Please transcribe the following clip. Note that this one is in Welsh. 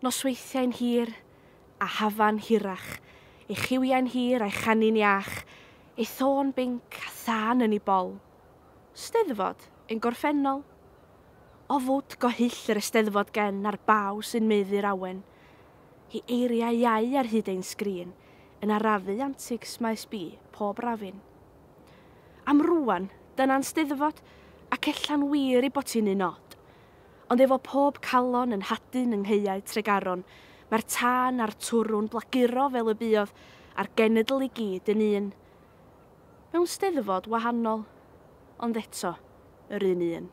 Nosweithiau'n hir a hafan hirach, ei chiwiau'n hir a'i chanu'n iach, ei thôn binc a thân yn ei bol. Steddfod ein gorffennol. O fwd go hyll yr Eisteddfod gen a'r baw sy'n maeddu'r awen. Hi eiriau iau ar hyd ein sgrin, yn arafu antics Maes B pob rafin. Am rŵan, dyna'n Steddfod, ac ella'n wir ei bod hi'n un od. Ond efo pob calon yn hadyn yng nghaeau Tregaron, mae'r tân a'r twrw'n blaguro fel y buodd, a'r genedl i gyd yn un. Mewn Steddfod wahanol, ond eto, yr un un.